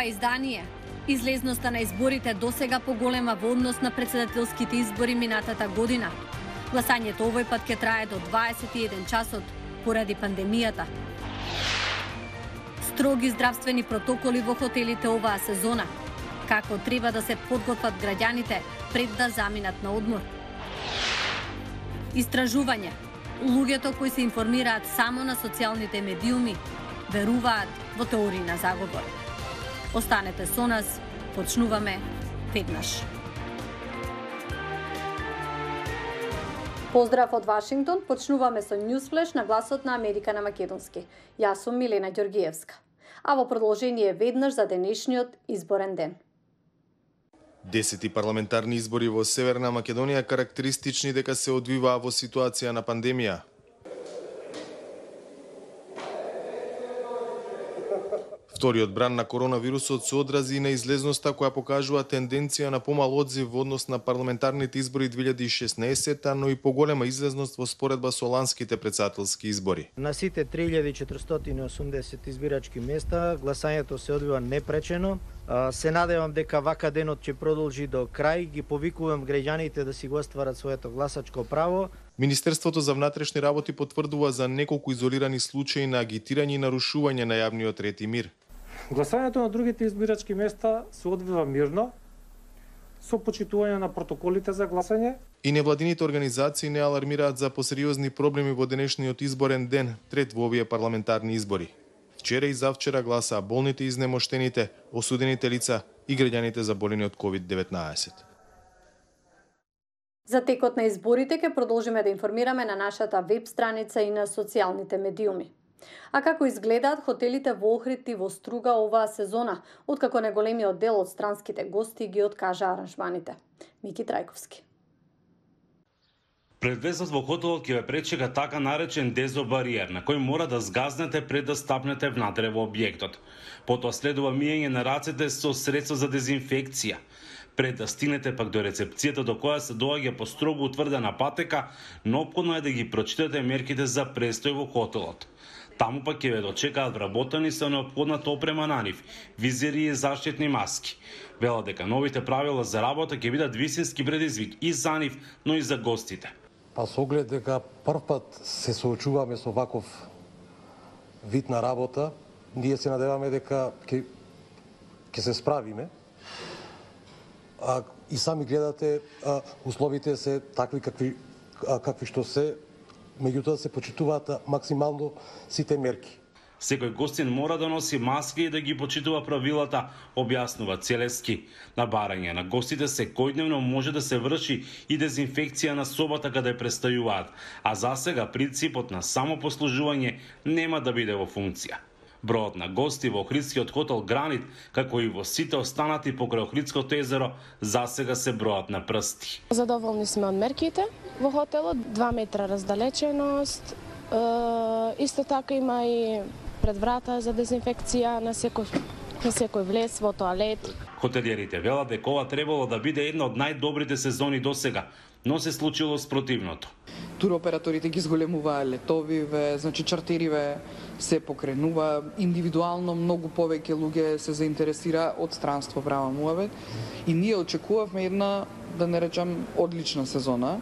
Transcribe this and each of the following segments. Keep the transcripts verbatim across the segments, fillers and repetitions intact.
издание. Излезноста на изборите досега поголема во однос на претседателските избори минатата година. Гласањето овој пат ќе трае до дваесет и еден часот поради пандемијата. Строги здравствени протоколи во хотелите оваа сезона. Како треба да се подготват граѓаните пред да заминат на одмор. Истражување. Луѓето кои се информираат само на социјалните медиуми веруваат во теории на заговор. Останете со нас, почнуваме веднаш. Поздрав од Вашингтон, почнуваме со Newsflash на гласот на Америка на македонски. Јас сум Милена Ѓоргиевска. А во продолжение веднаш за денешниот изборен ден. Десети парламентарни избори во Северна Македонија карактеристични дека се одвиваа во ситуација на пандемија. Вториот бран на коронавирусот се одрази и на излезноста која покажува тенденција на помал одзив во однос на парламентарните избори две илјади и шеснаесетта, но и поголема излезност во споредба со ланските претседателски избори. На сите три илјади четиристотини и осумдесет избирачки места гласањето се одвива непречено. Се надевам дека вака денот ќе продолжи до крај. Ги повикувам граѓаните да си го остварат своето гласачко право. Министерството за внатрешни работи потврдува за неколку изолирани случаи на агитирање и нарушување на јавниот ред и мир. Гласањето на другите избирачки места се одвива мирно, со почитување на протоколите за гласање. И невладините организации не алармираат за посериозни проблеми во денешниот изборен ден, трет во овие парламентарни избори. Вчера и завчера гласаа болните и изнемоштените, осудените лица и граѓаните заболени од ковид деветнаесет. За текот на изборите ќе продолжиме да информираме на нашата веб страница и на социјалните медиуми. А како изгледаат хотелите во Охрид и во Струга оваа сезона, откако неголемиот дел од странските гости ги откажа аранжманите? Мики Трајковски. Пред влезот во хотелот ќе ве пречека така наречен дезобариер, на кој мора да згазнете пред да стапнете внатре во објектот. Потоа следува миење на рацете со средство за дезинфекција. Пред да стигнете пак до рецепцијата до која се доаѓа по строго утврдена патека, неопходно е да ги прочитате мерките за престој во хотелот. Таму пак ќе ве дочекаат вработени со неопходната опрема на нив, визери и заштитни маски. Велат дека новите правила за работа ќе бидат вистински предизвик и за нив, но и за гостите. Па со оглед дека прв пат се соочуваме со ваков вид на работа, ние се надеваме дека ќе ќе се справиме. А, и сами гледате, а, условите се такви какви а, какви што се, меѓутоа се почитуваат максимално сите мерки. Секој гостин мора да носи маски и да ги почитува правилата, објаснува Целески. На барање на гостите секојдневно може да се врши и дезинфекција на собата каде престојуваат, а засега принципот на самопослужување нема да биде во функција. Бројот на гости во Охридскиот хотел Гранит, како и во сите останати покрај Охридското езеро, засега се бројат на прсти. Задоволни сме од мерките во хотелот, два метра раздалеченост, е, исто така има и пред врата за дезинфекција на секој, на секој влез во тоалет. Хотелиерите велат дека ова требало да биде една од најдобрите сезони досега, но се случило спротивното. Туроператорите ги зголемуваа летовиве, значи чартериве се покренува, индивидуално многу повеќе луѓе се заинтересира од странство према муавет и ние очекувавме една, да не речам, одлична сезона,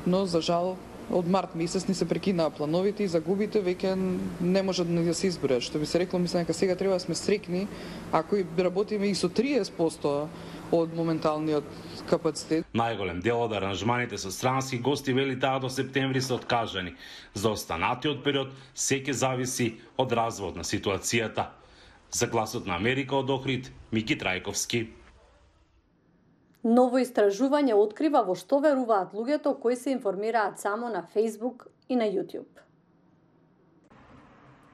но за жал од март месец ни се прекинаа плановите и загубите веќе не може да се избројат. Што би се рекло, мислам дека сега треба да сме срекни ако и работиме и со триесет проценти од моменталниот капацитет. Најголем дел од аранжманите со странски гости вели таа до септември се откажани. За останатиот период се ќе зависи од развојот на ситуацијата. За гласот на Америка од Охрид, Мики Трајковски. Ново истражување открива во што веруваат луѓето кои се информираат само на Facebook и на YouTube.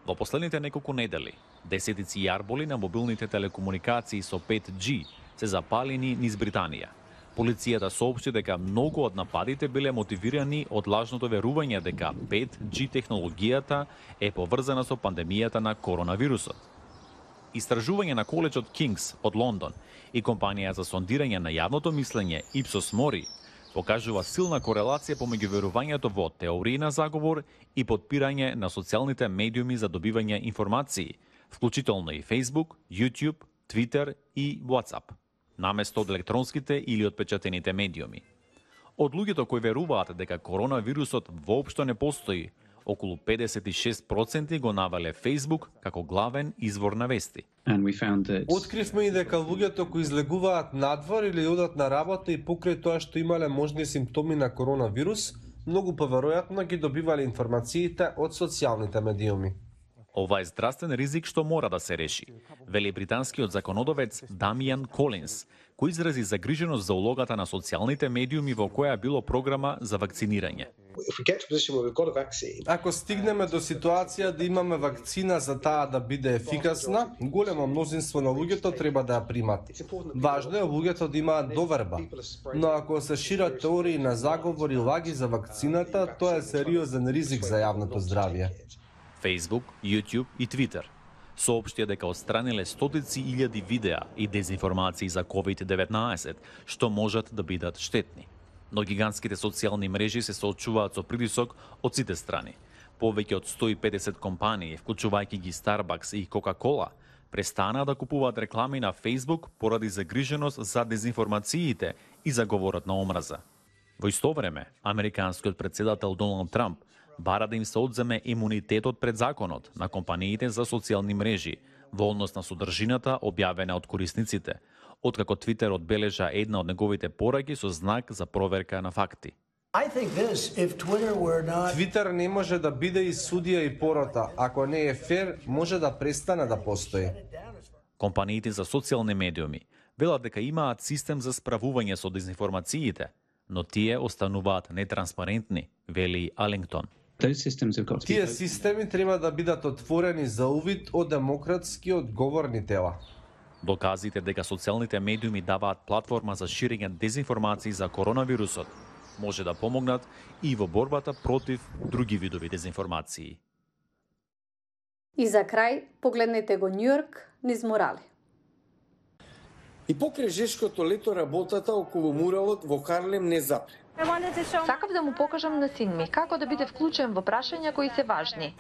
Во последните неколку недели, десетици јарболи на мобилните телекомуникации со пет џи се запалени низ Британија. Полицијата соопшти дека многу од нападите биле мотивирани од лажното верување дека пет џи технологијата е поврзана со пандемијата на коронавирусот. Истражување на коледжот Кингс од Лондон и компанија за сондирање на јавното мислење Ipsos Mori покажува силна корелација помеѓу верувањето во теории на заговор и подпирање на социјалните медиуми за добивање информации, вклучително и Facebook, YouTube, Twitter и WhatsApp, наместо од електронските или отпечатените медиуми. Од луѓето кои веруваат дека коронавирусот воопшто не постои, околу педесет и шест проценти го навале Facebook како главен извор на вести. Откривме и дека луѓето кои излегуваат надвор или одат на работа и покрај тоа што имале можни симптоми на коронавирус, многу поверојатно ги добивале информациите од социјалните медиуми. Ова е здравствен ризик што мора да се реши, вели британскиот законодавец Дамиан Колинс, кој изрази загриженост за улогата на социјалните медиуми во која било програма за вакцинирање. Ако стигнеме до ситуација да имаме вакцина за таа да биде ефикасна, големо мнозинство на луѓето треба да ја примат. Важно е луѓето да имаат доверба, но ако се шират теории на заговори и лаги за вакцината, тоа е сериозен ризик за јавното здравје. Facebook, YouTube и Twitter соопштија дека отстраниле стотици илјади видеа и дезинформации за ковид деветнаесет, што можат да бидат штетни. Но гигантските социјални мрежи се соочуваат со притисок од сите страни. Повеќе од сто и педесет компании, вклучувајќи ги Starbucks и Coca-Cola, престанаа да купуваат реклами на Facebook поради загриженост за дезинформациите и за говорот на омраза. Во исто време, американскиот претседател Доналд Трамп бара да им се одземе имунитетот пред законот на компаниите за социјални мрежи во однос на содржината објавена од корисниците, откако Твитер одбележа една од неговите пораки со знак за проверка на факти. Твитер не може да биде и судија и порота. Ако не е фер, може да престане да постои. Компаниите за социјални медиуми велат дека имаат систем за справување со дезинформациите, но тие остануваат нетранспарентни, вели Алингтон. Тие системи треба да бидат отворени за увид од демократски одговорни тела. Доказите дека социјалните медиуми даваат платформа за ширење дезинформации за коронавирусот може да помогнат и во борбата против други видови дезинформации. И за крај, погледнете го Њујорк низ мурали. И покрај жешкото лето работата околу муралот во Харлем не запре. Сакав да му покажам на син ми како да биде вклучен во прашања кои се важни.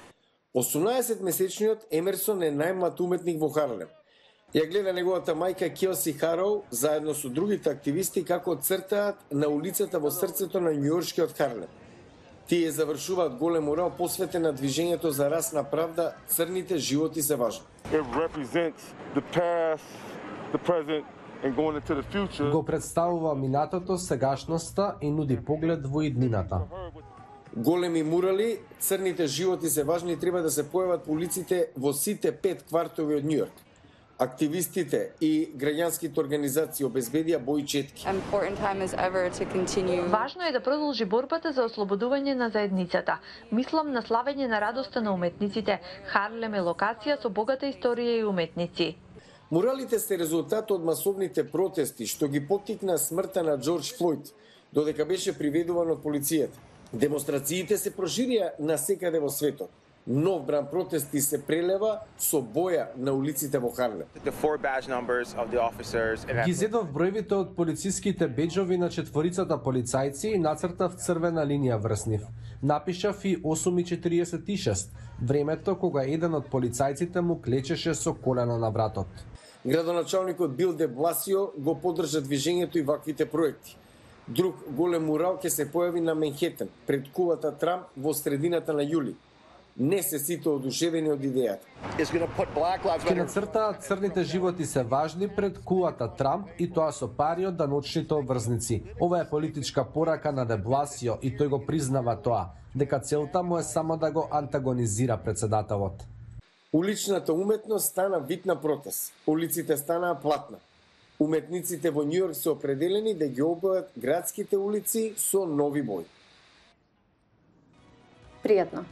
осумнаесетмесечниот Емерсон е најмлад уметник во Харлем. Ја гледа неговата мајка Келси Хароу заедно со другите активисти како цртаат на улицата во срцето на њујоршкиот Харлем. Тие завршуваат голем мурал посветен на движењето за расна правда, црните животи се важни. Го представува минатото, сегашноста и нуди поглед во иднината. Големи мурали, црните животи се важни треба да се појават по улиците во сите пет квартови од Њујорк. Активистите и граѓанските организации обезбедија бој четки. Важно е да продолжи борбата за ослободување на заедницата. Мислам на славење на радоста на уметниците. Харлем е локација со богата историја и уметници. Муралите се резултат од масовните протести што ги поттикна смртта на Џорџ Флојд, додека беше приведуван од полицијата. Демонстрациите се проширија насекаде во светот. Нов бран протести се прелева со боја на улиците во Харлем. Ги зедов бројвите од полициските беџови на четворицата полицајци и нацртав црвена линија врз нив. Напишав и осум и четириесет и шест, времето кога еден од полицајците му клечеше со колено на вратот. Градоначалникот Бил де Бласио го поддржа движењето и ваквите проекти. Друг голем мурал ќе се појави на Менхетен, пред кулата Трамп во средината на јули. Не се сите одушевени од идејата. Ке нацртаат црните животи се важни пред кулата Трамп и тоа со пари од даночните обврзници. Ова е политичка порака на де Бласио и тој го признава тоа, дека целта му е само да го антагонизира председателот. Уличната уметност стана вид на протест. Улиците станаа платна. Уметниците во Њујорк се определени да ги обојат градските улици со нови бои. Пријатно.